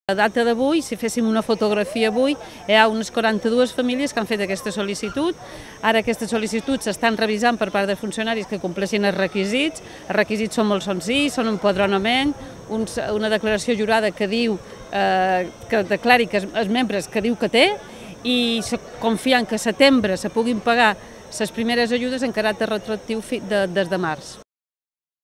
A data d'avui, si féssim una fotografia avui, hi ha unes 42 famílies que han fet aquesta sol·licitud. Ara aquestes sol·licituds s'estan revisant per part de funcionaris que compleixin els requisits. Els requisits són molt senzills, són un empadronament, una declaració jurada que diu que declari que els membres que diu que té, i confiant que a setembre se puguin pagar les primeres ajudes en caràcter retroactiu des de març.